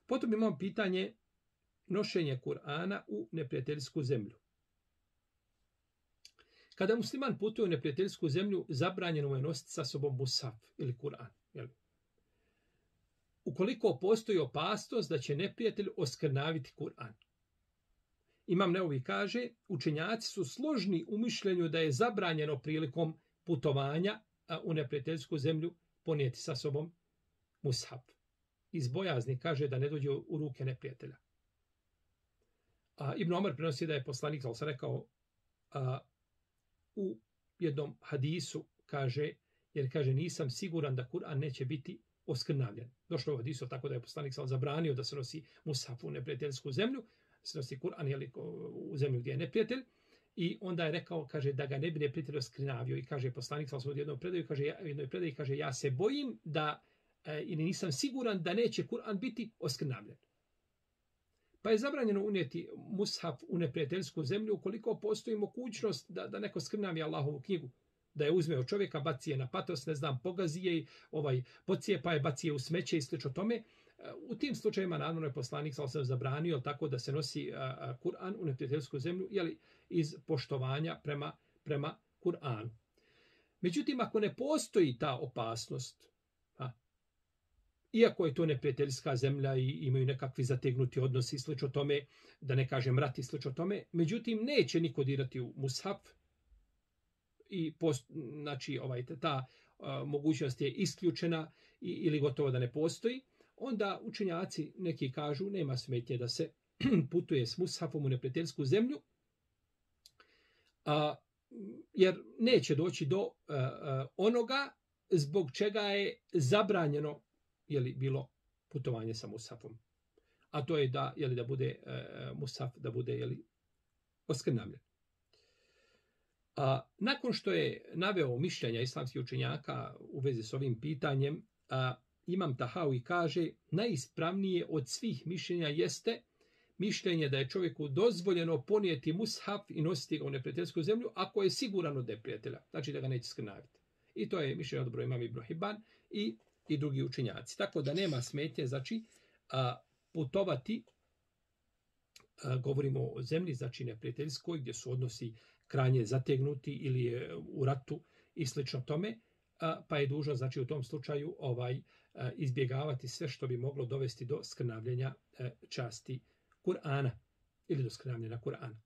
Potom imamo pitanje nošenje Kur'ana u neprijateljsku zemlju. Kada musliman putuje u neprijateljsku zemlju, zabranjeno mu je nositi sa sobom mushaf ili Kur'an. Ukoliko postoji opasnost da će neprijatelj oskrnaviti Kur'an. Imam Neovi kaže, učenjaci su složni u mišljenju da je zabranjeno prilikom putovanja u neprijateljsku zemlju ponijeti sa sobom mushaf. Iz bojazni kaže da ne dođe u ruke neprijatelja. Ibn Omar prenosi da je poslanik rekao u jednom hadisu, jer kaže nisam siguran da Kur'an neće biti oskrnavljen. Došlo u hadisu tako da je poslanik zabranio da se nosi mushaf u neprijateljsku zemlju, se nosi Kur'an u zemlju gdje je neprijatelj, i onda je rekao, kaže, da ga ne bi neprijatelj oskrnavio, i kaže poslanik u jednoj predaji, kaže, ja se bojim da ili nisam siguran da neće Kur'an biti oskrnavljen. Pa je zabranjeno unijeti mushaf u neprijateljsku zemlju ukoliko postoji mogućnost da neko skrnavi Allahovu knjigu, da je uzme od čovjeka, baci je na patos, pogazi je, pocijepa je, baci je u smeće i slično tome. U tim slučajima naravno je poslanik zabranio tako da se nosi Kur'an u neprijateljsku zemlju, iz poštovanja prema Kur'anu. Međutim, ako ne postoji ta opasnost, iako je to neprijateljska zemlja i imaju nekakvi zategnuti odnosi i slično tome, da ne kažem rat i slično tome, međutim neće niko dirati u mushaf i ta mogućnost je isključena ili gotovo da ne postoji, onda učenjaci neki kažu nema smetnje da se putuje s mushafom u neprijateljsku zemlju, jer neće doći do onoga zbog čega je zabranjeno bilo putovanje sa mushafom. A to je da bude mushaf, da bude oskrnavljen. Nakon što je naveo mišljenja islamskih učenjaka u vezi s ovim pitanjem, Imam Tahawi kaže, najispravnije od svih mišljenja jeste mišljenje da je čovjeku dozvoljeno ponijeti mushaf i nositi ga u neprijateljsku zemlju ako je siguran od neprijatelja, znači da ga neće skrnaviti. I to je mišljenje odbro Imam Ibn Hibban i drugi učenjaci. Tako da nema smetnje, znači, putovati, govorimo o zemlji, znači neprijateljskoj, gdje su odnosi krajnje zategnuti ili je u ratu i slično tome, pa je dužno, znači, u tom slučaju izbjegavati sve što bi moglo dovesti do skrnavljenja časti Kur'ana ili do skrnavljenja Kur'ana.